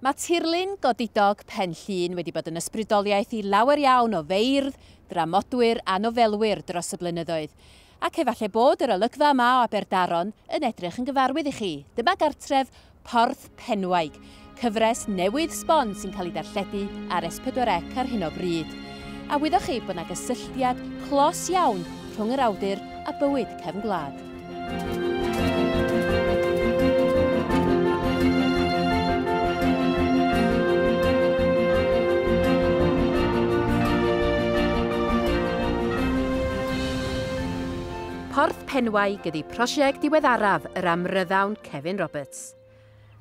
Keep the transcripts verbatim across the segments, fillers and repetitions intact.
Mae tirlun godidog Pen Llŷn wedi bod yn ysbrydoliaeth i lawer iawn o feirdd, dramodwyr a nofelwyr dros y blynyddoedd. Ac efallai bod yr olygfa yma o Aberdaron yn edrych yn gyfarwydd i chi. Dyma gartref Porth Penwaig, cyfres newydd sbon sy'n cael ei darlledu ar S pedwar C ar hyn o bryd. A wyddoch chi bod yna gysylltiad clos iawn rhwng yr awdur a bywyd cefn gwlad. Porth Penwaig ydy prosiect diweddaraf yr amryddawn Cefin Roberts.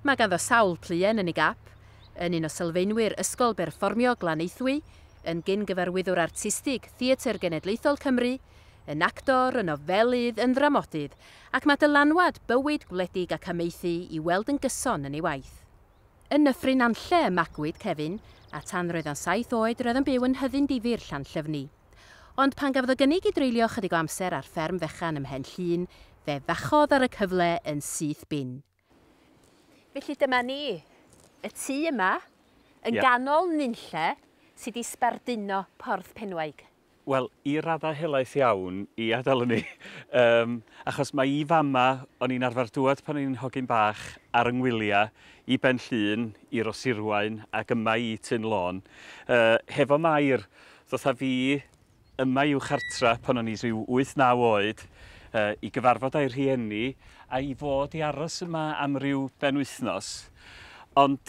Mae ganddo sawl pluen yn ei gap, yn un o sylfaenwyr Ysgol Berfformio Glanaethwy, yn gyn-gyfarwyddwr artistig Theatr Genedlaethol Cymru, yn actor, yn nofelydd, yn ddramodydd, ac mae dylanwad bywyd gwledig ac amaethu i weld yn gyson yn ei waith. Yn Nyffryn Nantlle y magwyd Cefin, a tan roedd o'n saith oed roedd yn byw yn Nhyddyn Difyr Llanllyfni. Ond pan gafodd o gynnig i dreulio chydig o amser ar fferm fechan ym Mhen Llŷn, fe fachodd ar y cyfle yn syth bin. Felly dyma ni, y tŷ yma, yn yeah. ganol nunlle, sydd wedi sbarduno Porth Penwaig. Wel, i raddau helaeth iawn i adael ni, um, achos mae i fama, o'n i'n arfer dŵad pan o'n i'n hogyn bach ar yng ngwyliau, i Ben Llŷn, i Rosirwaun ac yma i Tyn Lôn. Uh, hefo Mair, ddoth â fi yma i'w chartra pan o'n i rhyw wyth naw oed, uh, i gyfarfod â'i rhieni a i fod i aros yma am ryw benwythnos. Ond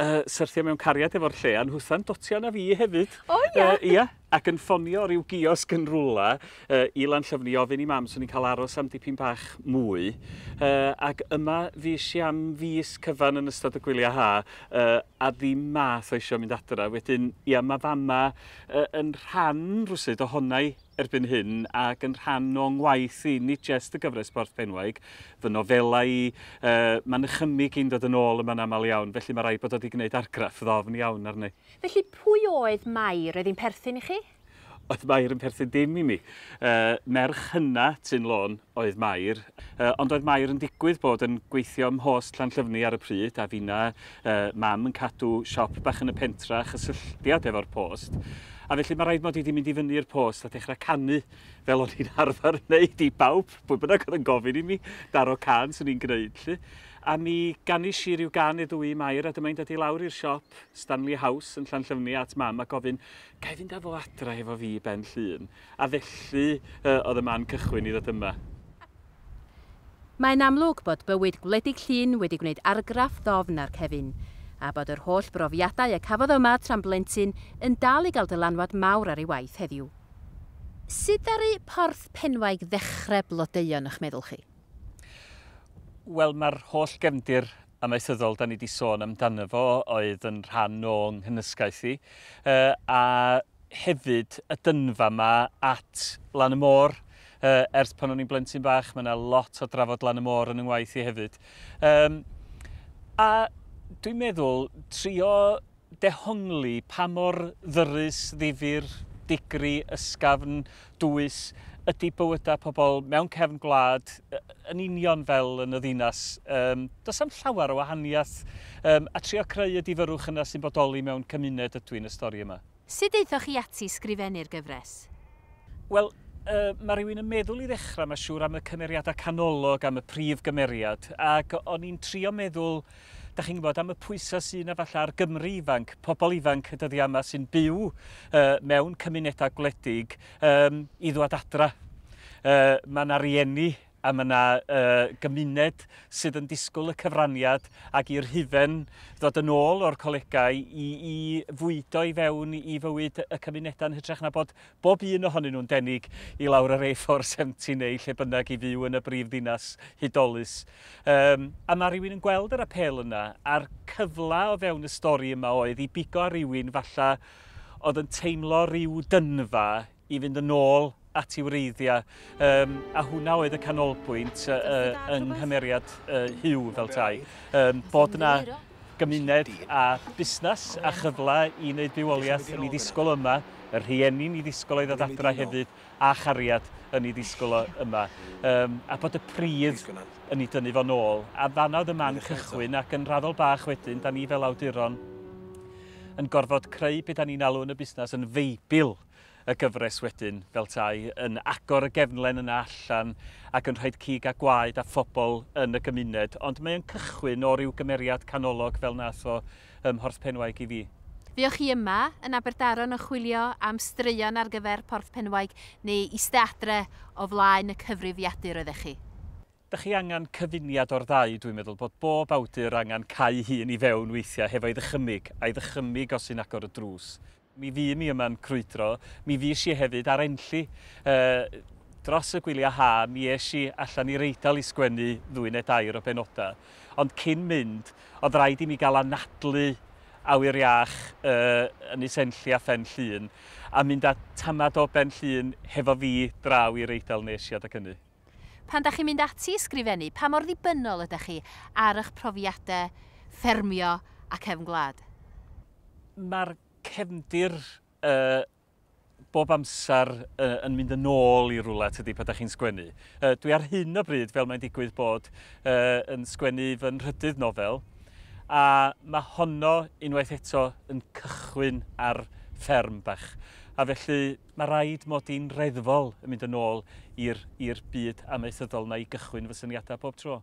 uh, syrthio mewn cariad efo'r lle, a nhwtha'n dotio na fi hefyd. O ia? Uh, ia, ac yn ffonio ryw giosg yn rwla uh, i Lanllyfni ofyn i mam swn i'n cael aros am dipyn bach mwy. Uh, ac yma fues i am fis cyfan yn ystod y gwyliau ha, uh, a ddim math o eisiau mynd adra. Wedyn, ia, mae fama uh, yn rhan rwsyd ohona i erbyn hyn ac yn rhan o'n ngwaith i, nid jyst y gyfres Porth Penwaig, fy nofelau i, uh, mae'n nychymyg i'n dod yn ôl yma'n aml iawn, felly mae rhaid bod o wedi gwneud argraff ddofn iawn arni. Felly pwy oedd Mair? Oedd hi'n perthyn i chi? Oedd Mair yn perthyn dim i mi. Uh, merch hynna Tyn Lôn oedd Mair, uh, ond oedd Mair yn digwydd bod yn gweithio ym Mhost Llanllyfni ar y pryd, a finna uh, mam yn cadw siop bach yn y pentra, chysylltiad efo'r post. A felly mae rhaid mod i wedi mynd i fyny i'r post a dechrau canu fel o'n i'n arfer wneud i bawb, pwy bynnag oedd yn gofyn i mi, daro can swn i'n gwneud lly. A mi ganis i ryw gan i ddwy Mair, a dyma i'n dod i lawr i'r siop Stanley House yn Llanllyfni at mam a gofyn, ga i fynd â fo adra efo fi Ben Llŷn? A felly uh, oedd y man cychwyn i ddod yma. Mae'n amlwg bod bywyd gwledig Llŷn wedi gwneud argraff ddofn ar Cefin, a bod yr holl brofiadau y cafodd yma tra'n blentyn yn dal i gael dylanwad mawr ar ei waith heddiw. Sut ddaru Porth Penwaig ddechrau blodeuo yn eich meddwl chi? Wel, mae'r holl gefndir amaethyddol da ni wedi sôn amdano fo oedd yn rhan o'n nghynysgaeth i, uh, a hefyd y dynfa yma at lan y môr. Uh, ers pan o'n i'n blentyn bach, mae yna lot o drafod lan y môr yn 'y ngwaith i hefyd. Um, a dwi'n meddwl trio dehongli pa mor ddyrus, ddifyr, digri, ysgafn, dwys ydy bywydau pobl mewn cefn gwlad yn union fel yn y ddinas. Um, does am llawer o wahaniaeth, um, a trio creu y difyrrwch yna sy'n bodoli mewn cymuned ydw i'n y stori yma. Sut aethoch chi ati sgrifennu'r gyfres? Wel, uh, mae rhywun yn meddwl i ddechrau, mae'n siŵr, am y cymeriadau canolog, am y prif gymeriad, ac o'n i'n trio meddwl, da chi'n gwybod, am y pwysau sydd yna falle ar Gymru ifanc, pobl ifanc y dyddiau yma sy'n byw uh, mewn cymunedau gwledig um, i ddwad adra. Uh, mae yna rieni a mae yna uh, gymuned sydd yn disgwyl y cyfraniad ac i'r hufen ddod yn ôl o'r colegau i, i fwydo i fewn i fywyd y cymunedau yn hytrach na bod bob un ohonyn nhw'n denig i lawr yr A four seventy neu lle bynnag i fyw yn y brif ddinas hudolus. Um, a mae rhywun yn gweld yr apêl yna, a'r cyfle o fewn y stori yma oedd i bigo ar rywun falle oedd yn teimlo rhyw dynfa i fynd yn ôl at ei wreiddiau, um, a hwnna oedd y canolbwynt uh, uh, yng nghymeriad uh, Huw fel tai. Um, bod yna gymuned a busnes a chyfle i wneud bywoliaeth yn ei ddisgwyl yma Y rhieni'n ei ddisgwyl o i ddod adra hefyd, a chariad yn ei ddisgwyl o yma. Um, a bod y pridd yn ei dynnu fo nôl. A fanna oedd y man cychwyn, ac yn raddol bach wedyn, da ni fel awduron yn gorfod creu beth da ni'n alw yn y busnes yn feibl y gyfres wedyn, fel tai, yn agor y gefnlen yna allan ac yn rhoi cig a gwaed a phobl yn y gymuned. Ond mae'n cychwyn o ryw gymeriad canolog fel nath o ym Mhorth Penwaig i fi. Fuoch chi yma yn Aberdaron yn chwilio am straeon ar gyfer Porth Penwaig neu iste adre o flaen y cyfrifiadur oeddech chi? Dych chi angen cyfuniad o'r ddau, dwi'n meddwl, bod bob awdur angen cau hun i fewn weithiau hefo'i ddychymyg, a'i ddychymyg os sy'n agor y drws. Mi fu mi yma'n crwydro, mi fues i hefyd ar Enlli. Uh, dros y gwyliau ha, mi es i allan i'r Eidal i sgwennu ddwy neu dair o benodau. Ond cyn mynd, oedd rhaid i mi gael anadlu awyr iach uh, Ynys Enlli a Phen Llŷn, a mynd â tamad o Ben Llŷn hefo fi draw i'r Eidal nes i adag hynny. Pan da chi'n mynd ati i sgrifennu, pa mor ddibynnol ydych chi ar eich profiadau ffermio a cefn gwlad? Mae'r cefndir uh, bob amser uh, yn mynd yn ôl i rwle, tydi, pan da chi'n sgwennu. Uh, dwi ar hyn o bryd, fel mae'n digwydd bod, uh, yn sgwennu fy nhrydydd nofel, a mae honno unwaith eto yn cychwyn ar fferm bach. A felly mae rhaid mod i'n reddfol yn mynd yn ôl i'r byd amaethyddol na i gychwyn fy syniadau bob tro.